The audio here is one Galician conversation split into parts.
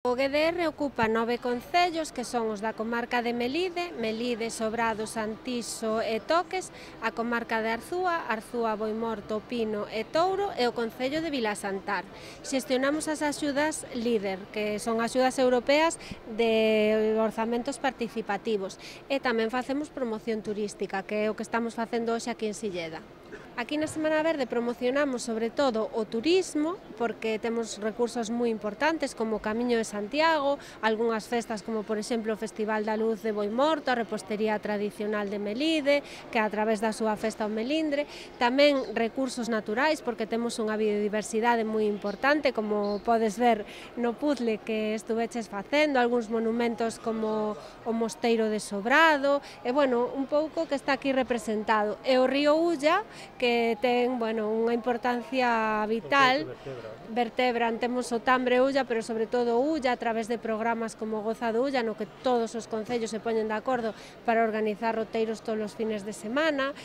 O GDR ocupa 9 concellos que son os da comarca de Melide, Sobrado, Santiso e Toques, a comarca de Arzúa, Boimorto, Pino e Touro e o concello de Vilasantar. Xestionamos as axudas LEADER, que son axudas europeas de orzamentos participativos, e tamén facemos promoción turística, que é o que estamos facendo hoxe aquí en Silleda. Aquí na Semana Verde promocionamos sobre todo o turismo, porque temos recursos moi importantes como o Camiño de Santiago, algunhas festas como por exemplo o Festival da Luz de Boimorto, a repostería tradicional de Melide, que a través da súa festa o Melindre, tamén recursos naturais, porque temos unha biodiversidade moi importante, como podes ver no puzzle que estuveches facendo, algúns monumentos como o Mosteiro de Sobrado, e bueno, un pouco que está aquí representado, e o río Ulla, que ten, bueno, unha importancia vital, vertebran, temos o Tambre Ulla, pero sobre todo Ulla, a través de programas como Goza do Ulla, no que todos os concellos se poñen de acordo para organizar roteiros todos os fines de semana,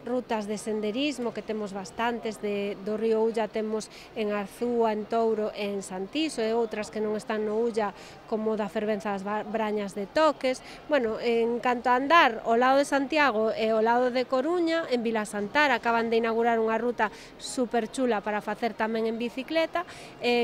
rutas de senderismo, que temos bastantes, do río Ulla temos en Arzúa, en Touro e en Santiso, e outras que non están no Ulla, como da Fervenza das Brañas de Toques. Bueno, en canto a andar, ao lado de Santiago e ao lado de Coruña, en Vilasantar, acaban de inaugurar unha ruta super chula para facer tamén en bicicleta,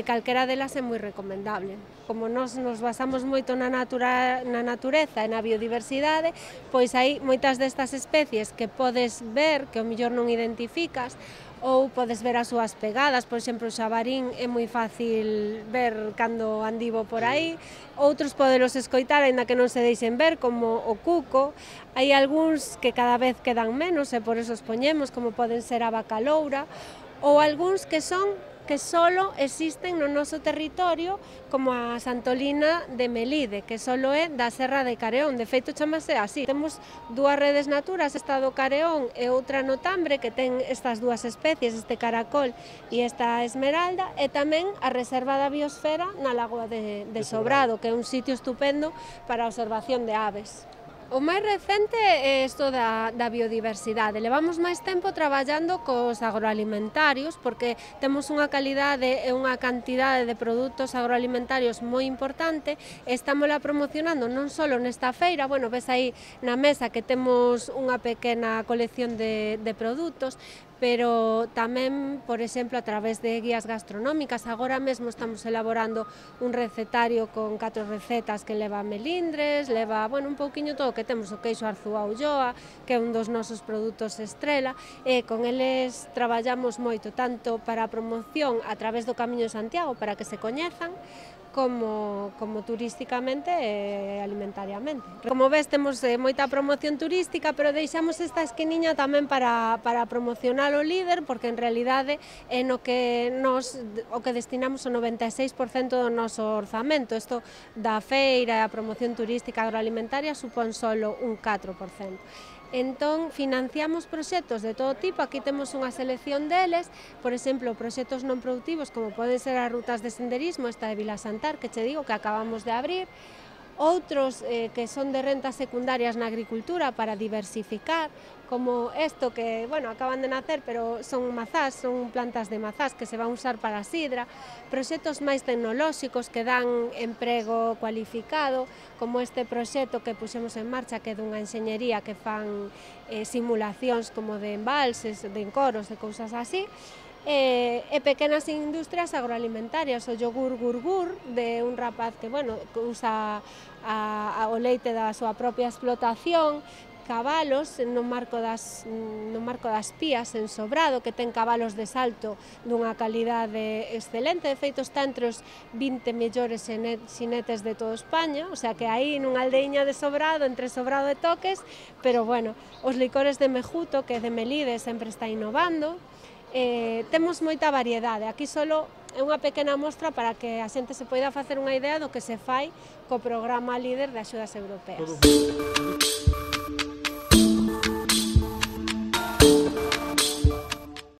calquera delas é moi recomendable. Como nos basamos moito na natureza e na biodiversidade, pois hai moitas destas especies que podes ver, que ao mellor non identificas, ou podes ver as súas pegadas, por exemplo, o xabarín é moi fácil ver cando andivo por aí, outros podelos escoitar, aínda que non se deixen ver, como o cuco, hai algúns que cada vez quedan menos e por eso os poñemos, como poden ser a vaca loura, ou algúns que solo existen no noso territorio, como a Santolina de Melide, que solo é da Serra de Careón, de feito chamase así. Temos dúas redes naturas, esta do Careón e outra no Tambre, que ten estas dúas especies, este caracol e esta esmeralda, e tamén a Reserva da Biosfera na Lagoa de Sobrado, que é un sitio estupendo para a observación de aves. O máis recente é isto da biodiversidade. Levamos máis tempo traballando cos agroalimentarios porque temos unha calidade e unha cantidade de produtos agroalimentarios moi importante e estámola promocionando non só nesta feira, bueno, ves aí na mesa que temos unha pequena colección de produtos, pero tamén, por exemplo, a través de guías gastronómicas. Agora mesmo estamos elaborando un recetario con 4 recetas que leva melindres, leva, bueno, un pouquiño todo o que temos, o queixo Arzúa Ulloa, que é un dos nosos produtos estrela, e con eles traballamos moito, tanto para a promoción a través do Camiño de Santiago, para que se coñezan, como turísticamente e alimentariamente. Como ves, temos moita promoción turística, pero deixamos esta esquiniña tamén para promocionar o líder, porque en realidade é no que o que destinamos o 96% do noso orzamento. Isto da feira e a promoción turística agroalimentaria supón solo un 4%. Entón, financiamos proxectos de todo tipo, aquí temos unha selección deles, por exemplo, proxectos non productivos como poden ser as rutas de senderismo, esta de Vilasantar, que che digo que acabamos de abrir, outros que son de rentas secundarias na agricultura para diversificar, como isto que, bueno, acaban de nacer, pero son mazás, son plantas de mazás que se van a usar para a sidra, proxectos máis tecnolóxicos que dan emprego cualificado, como este proxecto que puxemos en marcha, que é dunha enxeñería que fan simulacións como de embalses, de encoros, de cousas así, e pequenas industrias agroalimentarias, o yogur Gurgur, de un rapaz que, bueno, que usa o leite da súa propia explotación, cabalos no marco das Pías en Sobrado, que ten cabalos de salto dunha calidade excelente, de feito está entre os 20 mellores xinetes de toda España, o sea que aí nunha aldeiña de Sobrado, entre Sobrado e Toques, pero bueno, os licores de Mejuto, que de Melide sempre está innovando, temos moita variedade, aquí solo é unha pequena mostra para que a xente se poida facer unha idea do que se fai co programa LEADER de axudas europeas.